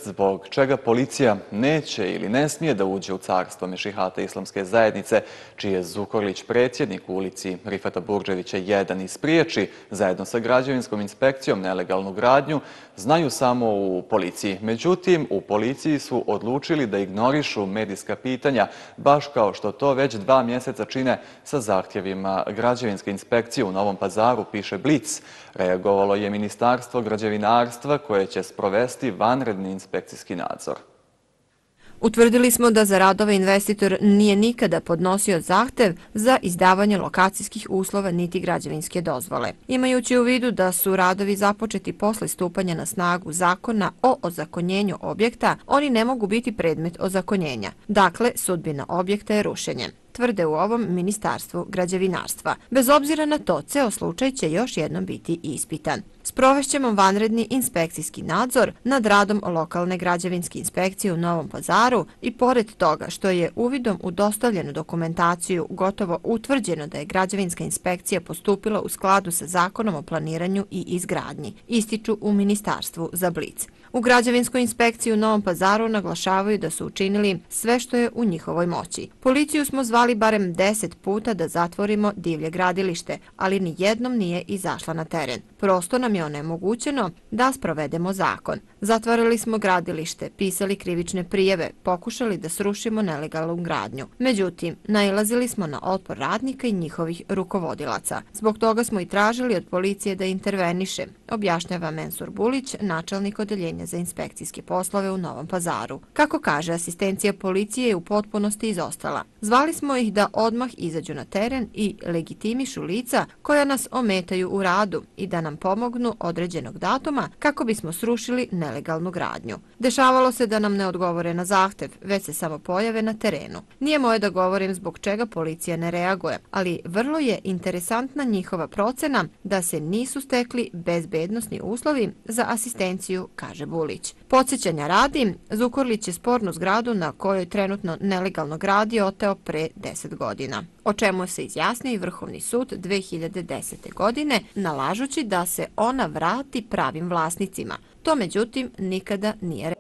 vijest zbog čega policija neće ili ne smije da uđe u carstvo Mešihata islamske zajednice, čiji je Zukorlić predsjednik u ulici Rifata Burdževića 1 ispriječi zajedno sa građevinskom inspekcijom nelegalnu gradnju, znaju samo u policiji. Međutim, u policiji su odlučili da ignorišu medijska pitanja, baš kao što to već 2 mjeseca čine sa zahtjevima građevinske inspekcije u Novom Pazaru, piše Blic. Reagovalo je Ministarstvo građevinarstva koje će sprovesti vanredni inspekcijski nadzor. Utvrdili smo da za radove investitor nije nikada podnosio zahtev za izdavanje lokacijskih uslova niti građevinske dozvole. Imajući u vidu da su radovi započeti posle stupanja na snagu zakona o ozakonjenju objekta, oni ne mogu biti predmet ozakonjenja. Dakle, sudbina objekta je rušenje, tvrde u ovom Ministarstvu građevinarstva. Bez obzira na to, ceo slučaj će još jednom biti ispitan. Sprovešćemo vanredni inspekcijski nadzor nad radom lokalne građevinske inspekcije u Novom Pazaru i pored toga što je uvidom u dostavljenu dokumentaciju gotovo utvrđeno da je građevinska inspekcija postupila u skladu sa Zakonom o planiranju i izgradnji, ističu u Ministarstvu za Blic. U građevinskoj inspekciji u Novom Pazaru naglašavaju da su učinili sve što je u njihovoj moći. Policiju smo zvali barem 10 puta da zatvorimo divlje gradilište, ali ni jednom nije izašla na teren. Prosto nam je onemogućeno da sprovedemo zakon. Zatvarali smo gradilište, pisali krivične prijave, pokušali da srušimo nelegalnu gradnju. Međutim, nailazili smo na otpor radnika i njihovih rukovodilaca. Zbog toga smo i tražili od policije da interveniše, objašnjava Mensur Bulić, načelnik odeljenja za inspekcijske poslove u Novom Pazaru. Kako kaže, asistencija policije je u potpunosti izostala. Zvali smo ih da odmah izađu na teren i legitimišu lica koja nas ometaju u radu i da nam pomognu određenog datuma kako bismo srušili nelegalnu gradnju. Dešavalo se da nam ne odgovore na zahtev, već se samo pojave na terenu. Nije moje da govorim zbog čega policija ne reaguje, ali vrlo je interesantna njihova procena da se nisu stekli bezbednosni uslovi za asistenciju, kaže Bulić. Podsjećanja radi, Zukorlić je spornu zgradu na kojoj trenutno nelegalno gradi oteo pre 10 godina, o čemu se izjasnio i Vrhovni sud 2010. godine, nalažući da se ona vrati pravim vlasnicima. To međutim nikada nije